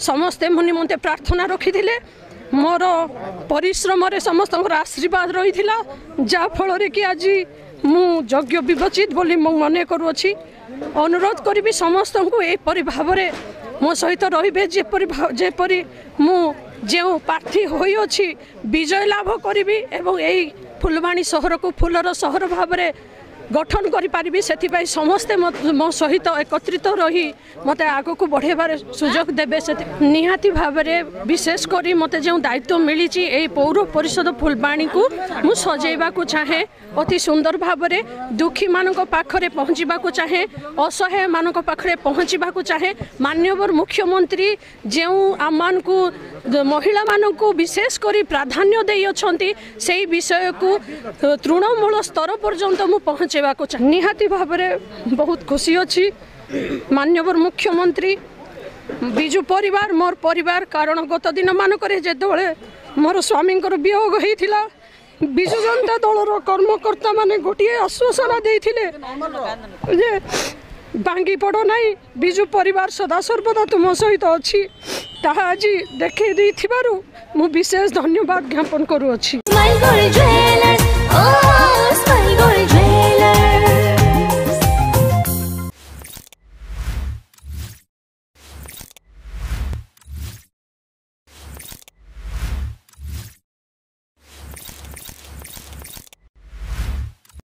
ସମସ୍ତେ ମୋ ନିମନ୍ତେ ପ୍ରାର୍ଥନା ରଖିଥିଲେ। ମୋର ପରିଶ୍ରମରେ ସମସ୍ତଙ୍କର ଆଶୀର୍ବାଦ ରହିଥିଲା, ଯାହାଫଳରେ କି ଆଜି ମୁଁ ଯୋଗ୍ୟ ବିବେଚିତ ବୋଲି ମୁଁ ମନେ କରୁଅଛି। ଅନୁରୋଧ କରିବି ସମସ୍ତଙ୍କୁ, ଏହିପରି ଭାବରେ ମୋ ସହିତ ରହିବେ, ଯେପରି ମୁଁ ଯେଉଁ ପ୍ରାର୍ଥୀ ହୋଇଅଛି ବିଜୟ ଲାଭ କରିବି ଏବଂ ଏଇ ଫୁଲବାଣୀ ସହରକୁ ଫୁଲର ସହର ଭାବରେ ଗଠନ କରିପାରିବି। ସେଥିପାଇଁ ସମସ୍ତେ ମୋ ସହିତ ଏକତ୍ରିତ ରହି ମୋତେ ଆଗକୁ ବଢ଼େଇବାରେ ସୁଯୋଗ ଦେବେ। ସେଥି ନିହାତି ଭାବରେ ବିଶେଷ କରି ମୋତେ ଯେଉଁ ଦାୟିତ୍ୱ ମିଳିଛି, ଏଇ ପୌର ପରିଷଦ ଫୁଲବାଣୀକୁ ମୁଁ ସଜେଇବାକୁ ଚାହେଁ ଅତି ସୁନ୍ଦର ଭାବରେ, ଦୁଃଖୀମାନଙ୍କ ପାଖରେ ପହଞ୍ଚିବାକୁ ଚାହେଁ, ଅସହାୟମାନଙ୍କ ପାଖରେ ପହଞ୍ଚିବାକୁ ଚାହେଁ। ମାନ୍ୟବର ମୁଖ୍ୟମନ୍ତ୍ରୀ ଯେଉଁ ଆମମାନଙ୍କୁ ମହିଳାମାନଙ୍କୁ ବିଶେଷ କରି ପ୍ରାଧାନ୍ୟ ଦେଇଅଛନ୍ତି, ସେଇ ବିଷୟକୁ ତୃଣମୂଳ ସ୍ତର ପର୍ଯ୍ୟନ୍ତ ମୁଁ ପହଞ୍ଚାଇବାକୁ ଚାହେଁ। ନିହାତି ଭାବରେ ବହୁତ ଖୁସି ଅଛି। ମାନ୍ୟବର ମୁଖ୍ୟମନ୍ତ୍ରୀ, ବିଜୁ ପରିବାର ମୋର ପରିବାର, କାରଣ ଗତ ଦିନମାନଙ୍କରେ ଯେତେବେଳେ ମୋର ସ୍ୱାମୀଙ୍କର ବିୟୋଗ ହେଇଥିଲା, ବିଜୁ ଜନତା ଦଳର କର୍ମକର୍ତ୍ତାମାନେ ଗୋଟିଏ ଆଶ୍ୱାସନା ଦେଇଥିଲେ ଯେ ଭାଙ୍ଗି ପଡ଼ ନାହିଁ, ବିଜୁ ପରିବାର ସଦାସର୍ବଦା ତୁମ ସହିତ ଅଛି। ତାହା ଆଜି ଦେଖେଇ ଦେଇଥିବାରୁ ମୁଁ ବିଶେଷ ଧନ୍ୟବାଦ ଜ୍ଞାପନ କରୁଅଛି। Smile Gold Jewelers, oh, Smile